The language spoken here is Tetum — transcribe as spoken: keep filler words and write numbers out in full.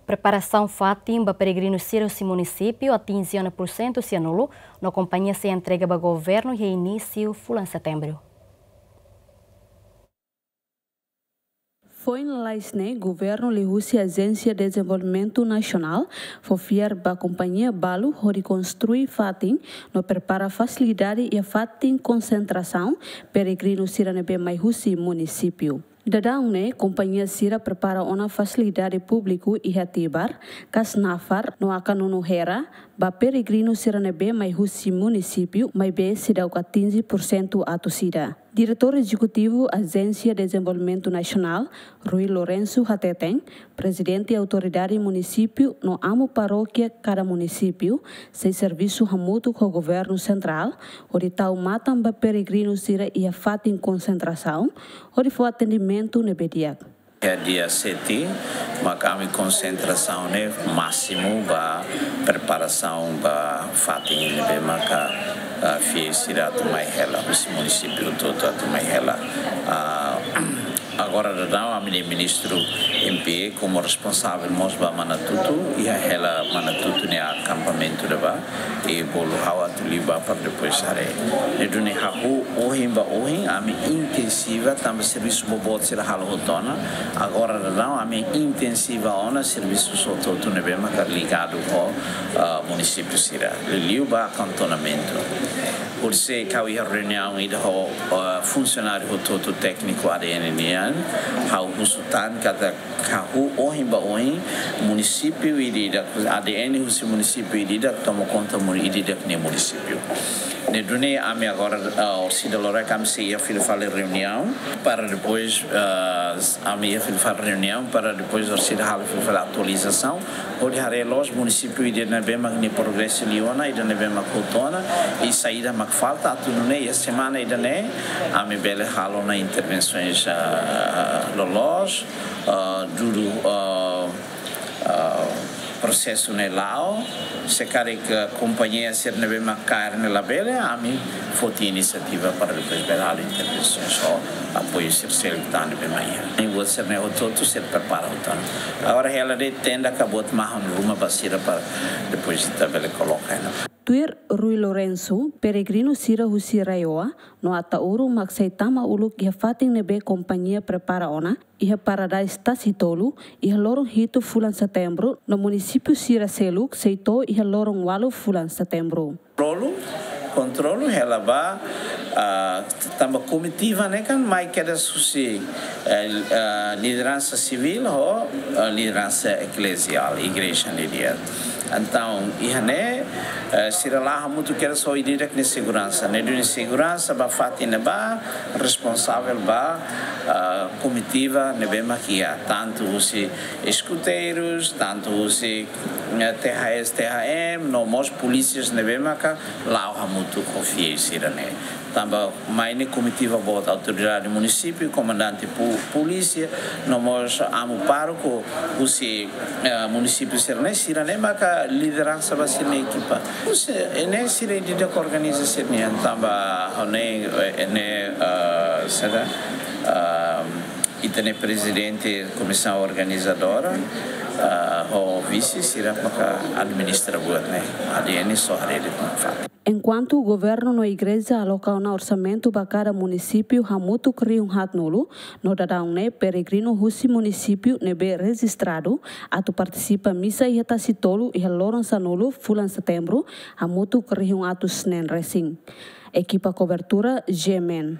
Preparasaun fatin ba peregrinu sira husi munisípiu atinje ona pursentu sianulu, no kompañia sei entrega ba governu iha inísiu fulan Setembru. Foin lalais ne'e, governu liuhusi Ajénsia Dezenvolvimentu Nasionál fó fiar ba kompañia balu hodi konstrui fatin no prepara fasilidade iha fatin konsentrasaun peregrinu sira ne'ebé mai husi munisípiu. Daudaun ne'e, kompañia sira prepara ona fasilidade públiku iha Tibar, Kasnafar no Akanunu Hera, ba peregrinu sira ne'ebé mai husi munisípiu, maibé seidauk atinje pursentu atus ida. Diretór Ezekutivu Ajénsia Dezenvolvimentu Nasionál, Rui Lourenço hateten, prezidente autoridade munisípiu no amu parókia kada munisípiu sei servisu hamutuk ho governu sentrál, hodi tau matan ba peregrinu sira iha fatin konsentrasaun, hodi fó atendimentu ne'ebé di'ak. Iha dia sete, mak ami konsentrasaun ne'e másimu ba preparasaun ba fatin ne'ebé maka, ah, fiéis sira atu mai hela, husi munisípiu hotu-hotu atu mai hela. Ah, agora daudaun ami-nia ministru M P komu responsavel mós ba Manatutu, iha hela Manatutu nia akampamentu ne'ebá, i bolu ha'u atu liu bá para depois haree. Ne'e duni hahú ohin ba ohin, ami intensiva, tanba servisu boboot sira halo hotu ona. Agora daudaun, ami intensiva ona servisu hotu-hotu ne'ebé maka ligadu ho, ah, munisípiu sira. Liuliu ba akantonamentu. Orsida ha'u iha reuniaun ida ho, ah, funsionáriu hotu-hotu tékniku A D N nian, ha'u husu tan katak hahú ohin ba ohin, munisípiu ida-idak, A D N husi munisípiu ida-idak toma konta muni ida-idak nia munisípiu. Ne'e duni ami agora, ah, orsida loraik ami sei iha fila fali reuniaun, para depois, ah, ami iha fila fali reuniaun, para depois orsida halo fila fali atualizasaun, hodi haree loos munisípiu ida ne'ebé mak nia progresu liu ona, ida ne'ebé mak hotu ona, i saida mak falta, atu nune'e iha semana ida-ne'e, ami bele halo ona intervensoens, ah, loloos, ah, dudu, ah, ah, prosesu ne'e la'o, se karik kompañia sira ne'ebé mak kaer ne'e labele, ami foti inisiativa para depois bele halo intervensoens ho apoiu sira seluk tan ne'ebé mak iha. Ne'e buat sira-ne'e hotu-hotu sira prepara hotu ona. Agora hela de'it tenda ka buat mahon ruma ba sira para depois ita bele koloka ona. Tuir Rui Lourenço, peregrinu sira husi RAEOA no Ataúro mak sei tama uluk iha fatin ne'ebé kompañia prepara ona, iha Paradise Tasitolu, iha loron hitu fulan Setembru, no munisípiu sira seluk sei to'o iha loron ualu fulan Setembru. Kontrolu, kontrolu hela ba, ah, tanba komitiva ne'e kan mai kedas husi, eh, ah, lideransa sivíl ho, ah, lideransa ekleziál, igreja nian. Entaun, iha ne'e, eh, sira la'o hamutuk kedas ho ida-idak nia seguransa. Ne'e duni seguransa ba fatin ne'ebá, responsavel ba, ah, komitiva ne'ebé mak iha, tantu husi eskuteirus, tantu husi, eh, T H S, T H M, no mós polísias ne'ebé maka la'o hamutuk ho fiéis sira-ne'e. Tanba mai ne'e komitiva boot, autoridade munisípiu, komandante pu-, polísia, no mós amu pároku husi, eh, munisípiu sira-ne'e, sira-ne'e maka lideransa ba sira-nia ekipa. Husi, eh, ne'e sira ida-idak organiza sira-nian, tanba ho ne'e, eh, ne'e, eh, saida, eh, ita-nia prezidente komisaun organizadora, ah, ho vise sira maka administra buat ne'e, A D N só haree de'it nafatin. Enkuantu governu no igreja aloka ona orsamentu ba kada munisípiu hamutuk rihun haatnulu, no daudaun ne'e peregrinu husi munisípiu ne'ebé rejistradu atu partisipa misa iha Tasitolu iha loron sanulu fulan Setembru hamutuk rihun atus neen resin. Ekipa kobertura, G M N.